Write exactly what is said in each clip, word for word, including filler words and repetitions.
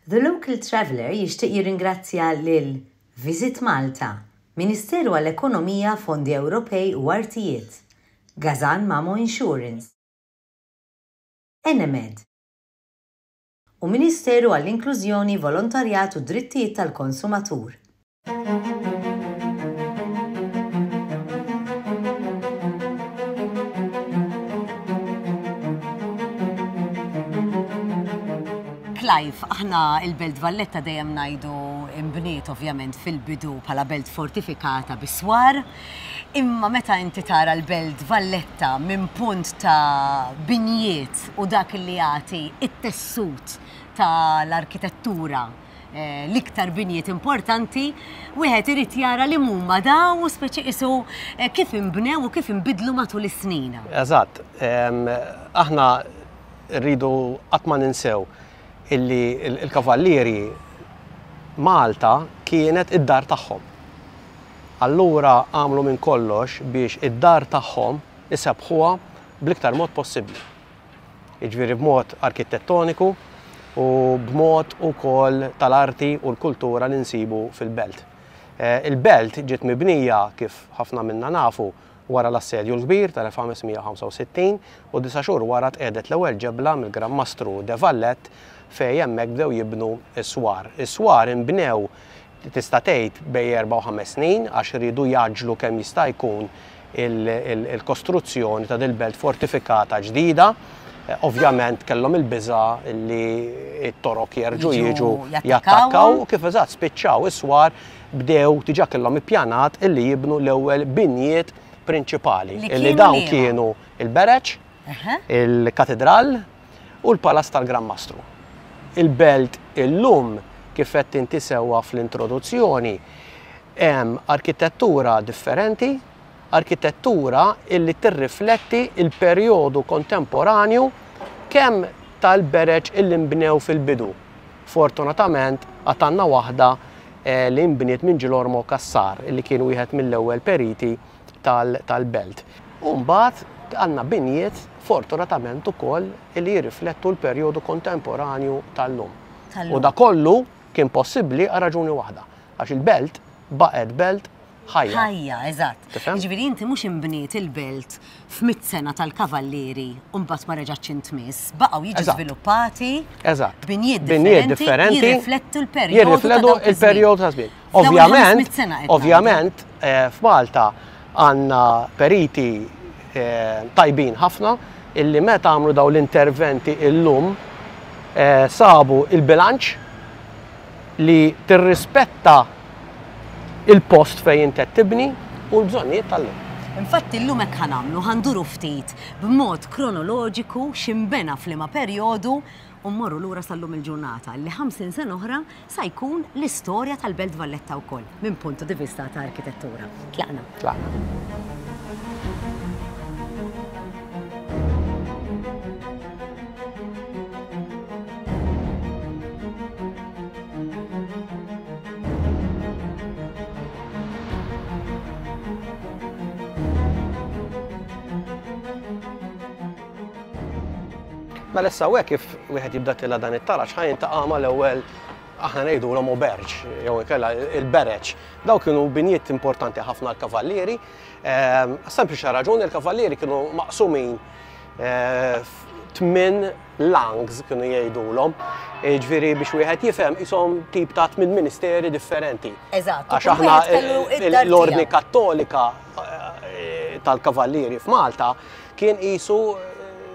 The Local Traveller jixtieq jirringrazzja lil Visit Malta, Ministeru għall-Ekonomija, Fondi Ewropej u Artijiet, Gazan Mamo Insurance, Enemed u Ministeru għall-Inklużjoni, Volontarjat u Drittijiet tal-Konsumatur. Clive, aħna il-Belt Valletta dejjem ngħidu imbniet ovvjament fil-bidu bħala belt fortifikata bis-swar, imma meta inti tara l-Belt Valletta minn punt ta' binjiet u dak li jagħti it-tessut tal-arkitettura, eh, l-iktar binjiet importanti, wieħed irid jara li huma daw u speċi qisu eh, kif inbnew u kif inbidlu matul is-snin. Eżatt, aħna rridu qatt ma ninsew illi il-kavallieri Malta kienet id-dar tagħhom. Allura għamlu minn kollox biex id-dar tagħhom isebħuha bl-iktar mod possibbli. Jiġifieri b'mod arkitettoniku u b'mod ukoll tal-arti u l-kultura li nsibu fil-belt. Il-belt ġiet mibnija kif ħafna minna nafu wara l-assedju l-kbir tal-elf ħames mija u ħamsa u sittin u disa' xhur wara tqiegħdet l-ewwel ġebla mill-Gran Mastru de Valette fejn hemmhekk bdew jibnu s-swar. Is-swar inbnew tista' tgħid bejn erba' u ħames snin għax iridu jaġlu kemm jista' jkun il-kostruzzjoni ta' dil-belt fortifikata ġdida. Ovvjament kellhom il-biża' li t-torok jerġgħu Jiġu jiġu jattakkaw. jattakkaw u kif eżatt spiċċaw is-swar bdew diġà kellhom ippjanat illi jibnu l-ewwel binjiet prinċipali, Li illi kienu dawn liema? kienu il-Bereġ, Eħe. il-Katedral u l-Palazz tal-Gran Mastru. Il-belt illum kif qed inti sewwa fl-introduzzjoni hemm arkitettura differenti, arkitettura illi tirrifletti il-perjodu kontemporanju kemm tal-bereġ illi nbnew fil-bidu. Fortunatament għad għandna waħda, eh, li nbniet minn Ġilormo Cassar illi kien wieħed mill-ewwel periti tal-, tal-belt. U mbagħad għandna binjiet fortunatament ukoll illi jirriflettu l-perjodu kontemporanju tal-lum. Tal-lum. U da kollu kien possibbli għal raġuni waħda, għax il-belt baqgħet belt ħajja. Ħajja, eżatt. Tifhem? Jiġifieri inti mhux inbniet il-belt f'mitt sena tal-kavallieri u mbagħad ma reġgħetx intmiss, baqgħu jiġu Eżatt. żviluppati Eżatt. binjiet Binjiet differenti differenti jirriflettu l-perjodu ta' jirriflettu dawk iż-żmien. il-perjodu ta' żmien. F'dawn il-ħames Ovvjament, mitt sena qed ngħidu. ovvjament, eh, f'Malta għandna periti, eh, tajbin ħafna illi meta għamlu dawn l-interventi illum, eh, sabu il-bilanċ li tirrispetta il-post fejn inti qed tibni u l-bżonnijiet tal-lum. Infatti llum hekk ħanamlu, ħanduru ftit b'mod kronoloġiku x'imbena f'liema perjodu u mmorru lura sal-lum il-ġurnata li ħamsin sena oħra sa jkun l-istorja tal-Belt Valletta wkoll minn puntu di vista ta' arkitettura. Tlaqna. Tlaqna. Mela issa hawnhekk kif wieħed jibda tila dan it-taraġ ħa jintaqa' mal-ewwel aħna ngħidulhom oberġ jew inkella il-bereġ. Dawk kienu binjiet importanti ħafna l-kavallieri. Ehm, sempliċi raġuni l-kavallieri kienu maqsumin, eh, tmien langs kienu jgħidulhom. Jiġifieri biex wieħed jifhem ishom tip ta' tmien ministeri differenti. Eżatt, Għax u kull aħna wieħed kellu il-, id-dar l-ordni tiegħu. kattolika, eh, tal-kavallieri f'Malta kien qisu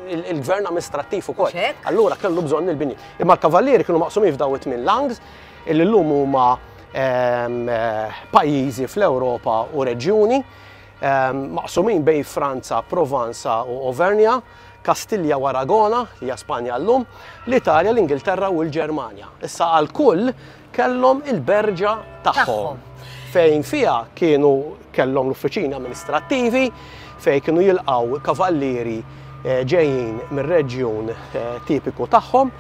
il-, il-gvern amministrattiv ukoll. Xek? Allura kellu bżonn il-bini. Imma l-kavallieri kienu maqsumin f'daw it-tmien langs illi llum huma, ehm, eh, pajjiżi fl-Ewropa u reġjuni, ehm, maqsumin bejn Franza, Provanza u Auvernia, Kastilja u Aragona, li hija Spanja llum, l-Italja, l-Ingilterra u l-Ġermanja. Issa għal kull kellhom il-berġa tagħhom. Tagħhom. Fejn fiha kienu kellhom l-uffiċini amministrattivi, fejn kienu jilqgħu kavallieri, eh, ġejjin mir-reġjun, eh, tipiku tagħhom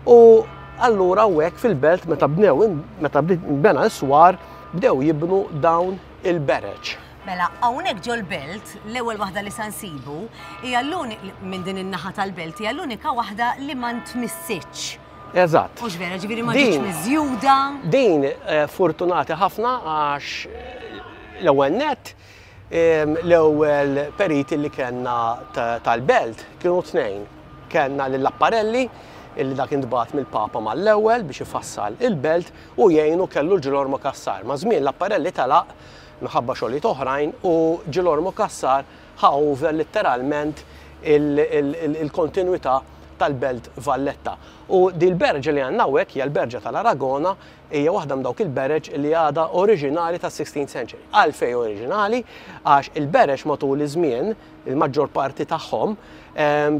u allura hawnhekk fil-belt meta bnew meta bena s-swar bdew jibnu dawn il-bereġ. Mela, hawnhekk ġol-belt, l-ewwel waħda li sa nsibu hija l-uni-, minn din in-naħa tal-belt hija l-unika waħda li ma ntmissitx. Eżatt. Mhux vera, ġifieri ma ġietx miżjuda. Din fortunati ħafna għax l-ewwel nett l-ewwel periti li kellna tal-belt kienu tnejn. Kellna lil Apparelli illi dak intbagħat mill-Papa mal-ewwel biex ifassal il-belt u jgħinu kellu Ġilormo Cassar. Ma' żmien l-Apparelli telaq minħabba xogħlijiet oħrajn u Ġilormo Cassar ħa over letteralment il-kontinwità tal-belt Valletta. U di l-berġa li għandna hawnhekk hija l-berġa tal-Aragona, hija waħda minn dawk il-bereġ li għadha oriġinali tas-sixteenth century. Għalfejn oriġinali? Għax il-bereġ matul iż-żmien, il-maġġor parti tagħhom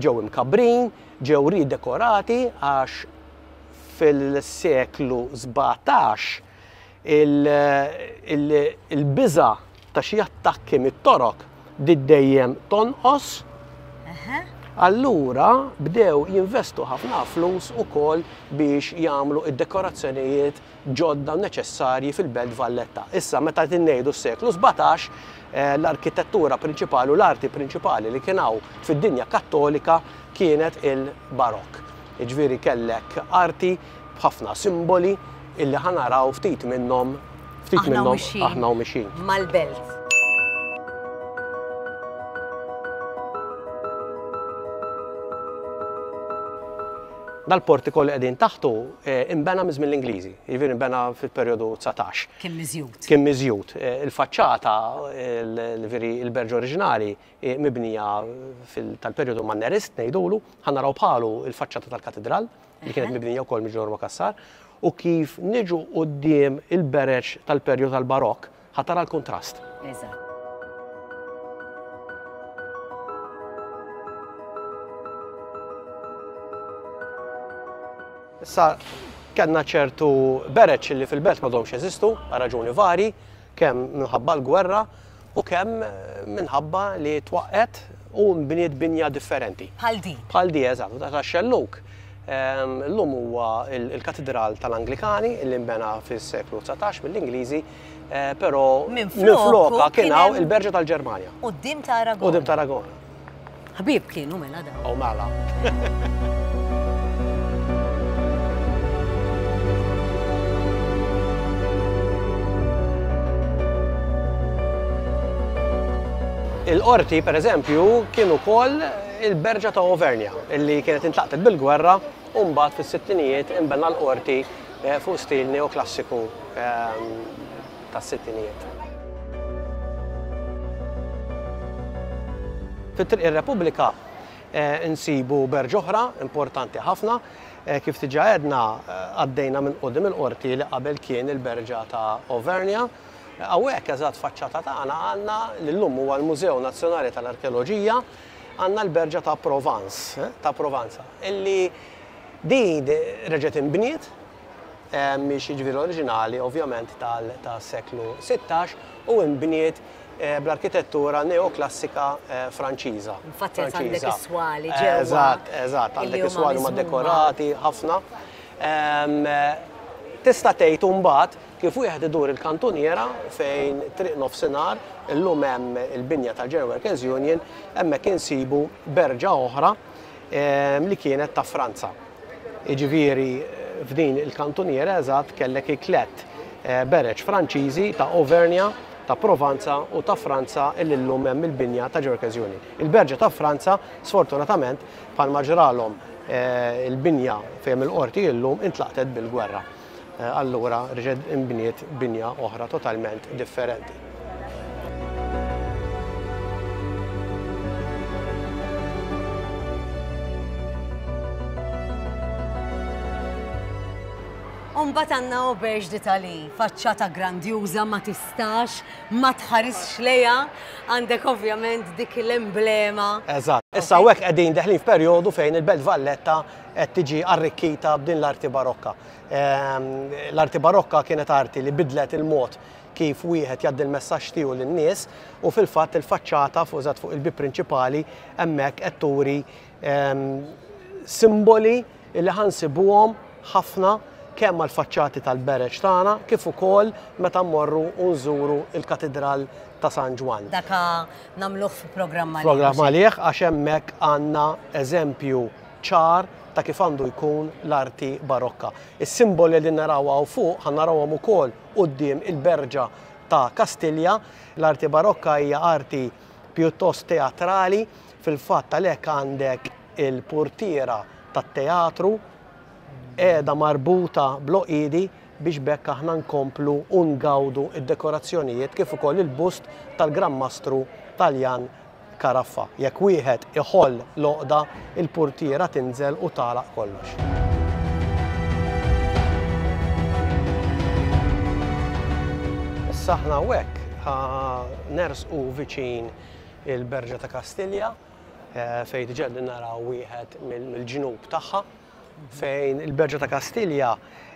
ġew imkabbrin, ġew ridekorati għax fil-seklu sbatax il-biża ta' xi attakki mit-torok bdiet dejjem tonqos. Allura bdew jinvestu ħafna flus ukoll biex jagħmlu id-dekorazzjonijiet ġodda neċessarji fil-belt Valletta. Issa meta qed ngħidu s-seklu sbatax, l-arkitettura prinċipali u l-arti prinċipali li kien hawn fid-dinja kattolika kienet il-barokk. Jiġifieri kellek arti b'ħafna simboli illi ħanaraw ftit minnhom, ftit minnhom aħna u mixin. Mal-belt. Dal-portico li qegħdin taħtu imbena minn żmien l-Ingliżi, jiġifieri imbena fil-perjodu dsatax. Kien miżjud. Kien miżjud. Il-faċċata, jiġifieri il-berġ oriġinali mibnija tal-perjodu Mannerist ngħidulu, ħa naraw bħalu il-faċċata tal-katedral li kienet mibnija wkoll minn Ġilormo Cassar, u kif niġu quddiem il-bereġ tal-perjodu tal-Barokk ħa tara l-kontrast. Eżatt. Issa kellna ċertu bereġ li fil-belt m'għadhomx jeżistu għal raġuni vari, kemm minħabba l-gwerra u kemm minħabba li twaqqet u nbniet binja differenti. Bħal di. Bħal di, eżatt, ta' xelluk. Illum huwa il-katedral tal-Anglikani li nbena fis-seklu dsatax mill-Ingliżi, però minflokha kien hawn il-berġa tal-Ġermanja. Quddiem ta' Aragona. Quddiem ta' Aragona. Ħbieb kienu mela dawn. Oh mela. Il-qorti, per eżempju, kien ukoll il-berġa ta' Auvernia, illi kienet intlaqtet bil-gwerra u mbagħad fis-sittinijiet inbena l-qorti fuq stil neoklassiku tas-sittinijiet. Fit-Triq ir-Repubblika insibu berġa oħra importanti ħafna, kif diġà għedna għaddejna minn quddiem il-qorti li qabel kien il-berġa ta' Auvernia. Hawnhekk eżatt faċċata tagħna għandna li llum huwa l-Mużew Nazzjonali tal-Arkeoloġija, għandna l-berġa ta' Provence, ta' Provanza, illi din reġgħet inbniet, mhix jiġifieri oriġinali ovvjament tas-seklu sittax u nbniet bl-arkitettura neoklassika Franċiża. Infatti għandek is-swali ġewwa. Eżatt, eżatt, għandek is-swali huma dekorati ħafna. Tista' tgħid imbagħad kif wieħed idur il-kantuniera fejn triq nofsinhar illum hemm il-binja tal-General Workers Union, hemmhekk insibu berġa oħra li kienet ta' Franza. Jiġifieri f'din il-kantuniera eżatt kellek iklet bereġ Franċiżi ta' Auvernia, ta' Provanza u ta' Franza illi llum hemm il-binja ta' General Workers Union. Il-berġa ta' Franza sfortunatament bħalma ġralhom il-binja fejn il-qorti illum intlaqtet bil-gwerra. Allura reġgħet inbniet binja oħra totalment differenti. U mbagħad għandna Auberge d'Italie, faċċata grandjuża ma tistax, ma tħarisx lejha, għandek ovvjament dik l-emblema. Eżatt. Issa hawnhekk qegħdin deħlin f'perjodu fejn il-Belt Valletta qed tiġi arrikkita b'din l-arti barokka. L-arti barokka kienet arti li bidlet il-mod kif wieħed jgħaddi l-messaġġ tiegħu lin-nies u fil-fatt il-faċċata fuq eżatt fuq il-bieb prinċipali hemmhekk qed turi simboli li ħansibuhom ħafna kemm għall-faċċati tal-bereġ tagħna kif ukoll meta mmorru u nżuru il-Katedral ta' San Ġwann. Daka nagħmluh fi programm għalih. Programm għalih għax hemmhekk għandna eżempju ċar ta' kif għandu jkun l-arti barokka. Is-simboli li naraw hawn fuq ħa narawhom ukoll quddiem il-Berġa ta' Kastilja. L-arti barokka hija arti pjuttost teatrali, fil-fatt għalhekk għandek il-portiera tat-teatru qiegħda marbuta bl-oqidi biex bekk aħna nkomplu u ngawdu id-dekorazzjonijiet kif ukoll il-bust tal-Gran Mastru Taljan Caraffa. Jekk wieħed iħoll l-oqda, il-portiera tinżel u tagħlaq kollox. Issa aħna hawnhekk nersqu viċin il-Berġa ta' Kastilja, fejn diġà naraw wieħed mill-ġnub tagħha, fejn il-Berġa ta' Kastilja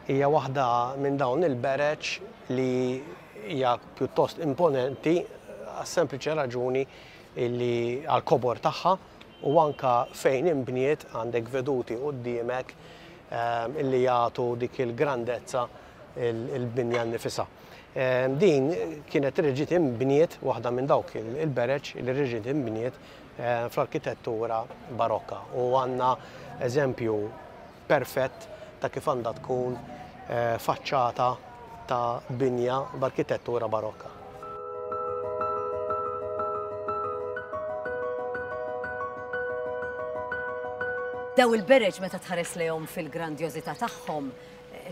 hija waħda minn dawn il-bereġ li hija pjuttost imponenti għas-sempliċi raġuni illi għal-kobor tagħha u anka fejn imbniet għandek veduti quddiemek illi jagħtu dik il-grandezza il-binja nnifisha. Din kienet reġgħet imbniet, waħda minn dawk il-bereġ li reġgħet imbniet fl-arkitettura barokka u għandna eżempju perfett ta' kif għandha tkun faċċata ta' binja b'arkitettura barokka. Daw il-bereġ meta tħares lejhom fil-grandjożità tagħhom,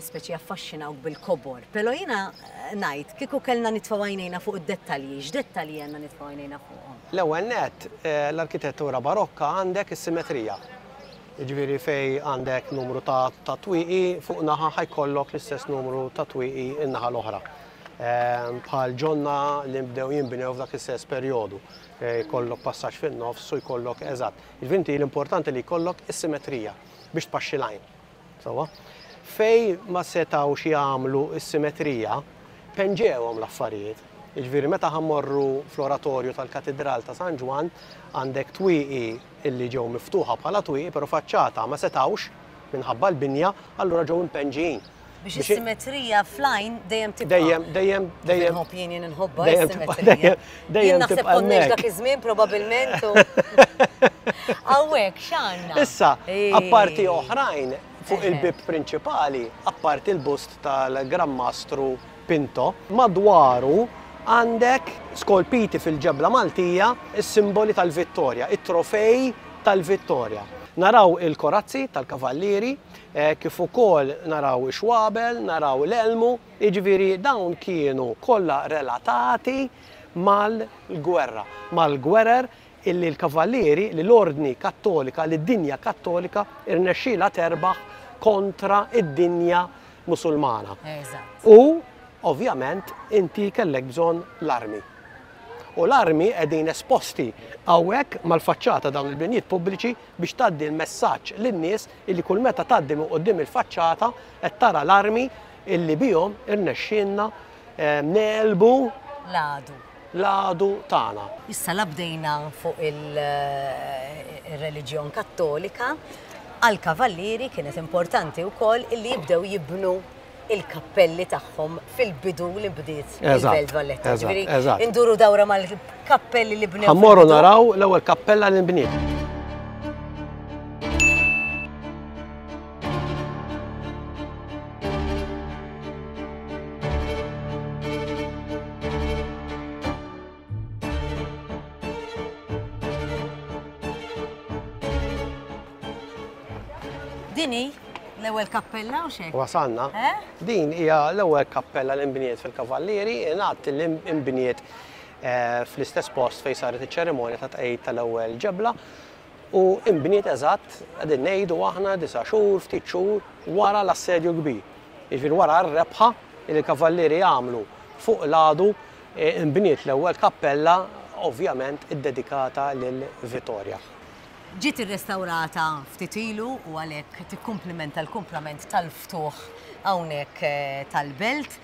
speċi affaxxinawk bil-kobor. Però jiena ngħid kieku kellna nitfgħu għajnejna fuq id-dettalji, x'dettalji għandna nitfgħu għajnejna fuqhom? L-ewwel nett, l-arkitettura barokka għandek is-simetrija. Jiġifieri fej għandek numru ta' twieqi fuq naħa ħajkollok l-istess numru ta' twieqi in-naħa l-oħra. Bħal ġonna li bdew jinbnew f'dak l-istess perjodu. Jkollok passaġġ fin-nofs u jkollok eżatt. Jiġifieri inti l-importanti li jkollok is-simetrija biex tpaxxi l-għajn. Sewwa? Fej ma setgħux jagħmlu s-simetrija, penġewhom l-affarijiet. Jiġifieri meta ħammorru fl-oratorju tal-Katidral ta' San Ġwann għandek twieqi illi ġew miftuħa bħala twieqi, però faċċata ma setgħux minħabba l-binja, allura ġew impenġijin. Biex is-simetrija fl-għajn dejjem tibqa'. Dejjem, dejjem, dejjem. Inħobb jien jien inħobbha is-simetrija. Dejjem naħseb konniex dak iż-żmien probabbilment. Hawnhekk x'għandna? Issa, apparti oħrajn fuq il-bib prinċipali, apparti il-bust tal-Gran Mastru Pinto, madwaru għandek skolpiti fil-ġebla Maltija is-simboli tal-Vittorja, it-trofej tal-Vittorja. Naraw il-korazzi tal-kavallieri, kif ukoll naraw ix-xwabel, naraw l-elmu, jiġifieri dawn kienu kollha relatati mal-gwerra, mal-gwerer illi l-kavallieri, li l-ordni kattolika, li d-dinja kattolika irnexxielha terbaħ kontra id-dinja musulmana. U ovvjament inti kellek bżonn l-armi. U l-armi qegħdin esposti hawnhekk mal-faċċata dawn il-binjiet pubbliċi biex tgħaddi l-messaġġ lin-nies illi kull meta tgħaddi minn quddiem il-faċċata qed tara l-armi illi bihom irnexxielna negħlbu l-għadu. L-għadu tagħna. Issa la bdejna fuq il-reliġjon kattolika, għall-kavallieri kienet importanti wkoll illi jibdew jibnu il-kappelli tagħhom fil-bidu li bdiet il-Belt Valletta. Ġifieri induru dawra mal-kappelli li bnew. Ħammorru naraw l-ewwel kappella li nbniet. Dini l-ewwel kappella u xejn? Wasalna. Din hija l-ewwel kappella li nbniet fil-Kavallieri, ingħad li nbniet fl-istess post fejn saret iċ-ċerimonja ta' tqegħid tal-ewwel ġebla u nbniet eżatt qegħdin ngħidu aħna disa' xhur, ftit xhur wara l-assedju kbir. Jiġifieri wara r-rebħa li l-Kavallieri għamlu fuq l-għadu nbniet l-ewwel kappella ovvjament iddedikata lil Vittoria. Ġiet irrestawrata ftit ilu u għalhekk tikkumplimenta l-kumplament tal-ftuħ hawnhekk tal-belt.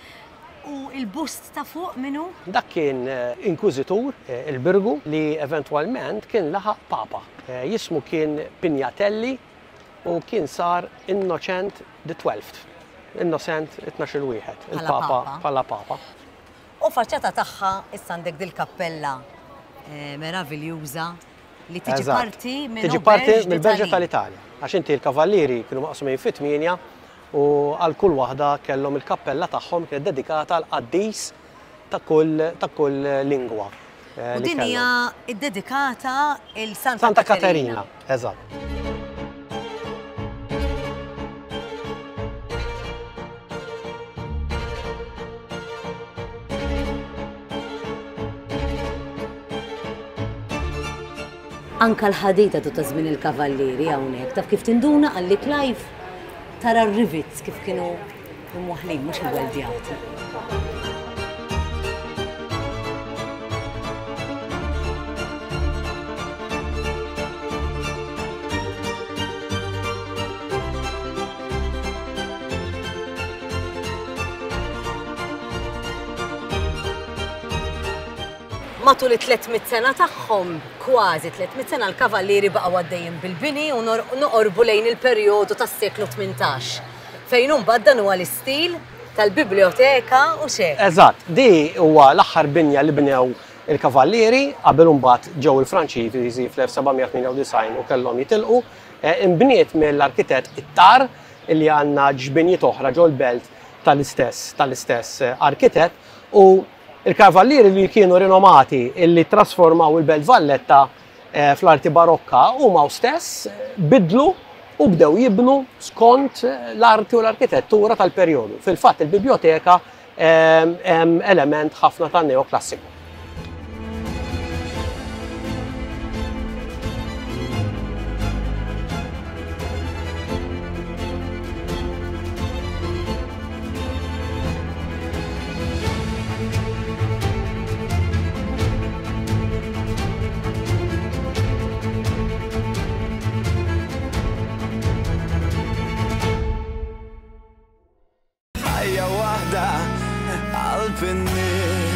U il-bust ta' fuq minnu? Dak kien inkwiżitur, il-Birgu, li eventwalment kien laħaq papa. Jismu kien Pignatelli u kien sar Innocent the Twelfth. Innocent it-tnax-il wieħed, il-papa bħala papa. U faċċata tagħha issa għandek dil-kappella meraviljuża Li tiġi parti minn Tiġi parti mill-Berġa tal-Italja. Għax inti l-kavallieri kienu maqsumin fi tmienja u għal kull waħda kellhom il-kappella tagħhom kienet dedikata għal qaddis ta' kull ta' kull lingwa. U din hija ddedikata il Santa Santa Katerina. Eżatt. Anka l-ħadida tu ta' żmien il-kavallieri hawnhekk, taf kif tinduna għalli Clive tara r-rivets kif kienu imwaħlin mhux imweldjati. Matul it-tliet mitt sena tagħhom, kważi tliet mitt sena, l-kavallieri baqgħu għaddejjin bil-bini u noqorbu lejn il-perjodu tas-seklu tmintax. Fejn imbagħad dan huwa l-istil tal-biblioteka u xejn. Eżatt, di huwa l-aħħar binja li bnew il-kavallieri qabel imbagħad ġew il-Franċiżi fl-elf seba' mija tmienja u disgħin u kellhom jitilqu. Inbniet mill-arkitett Ittar illi għandna ġbinjiet oħra ġol-belt tal-istess tal-istess arkitett, u il-kavallieri li kienu rinomati illi trasformaw il-Belt Valletta fl-arti barokka huma stess bidlu u bdew jibnu skont l-arti u l-arkitettura tal-perjodu. Fil-fatt il-biblioteka hemm element ħafna ta' neoklassiku. Ħajja waħda qalb in-nies.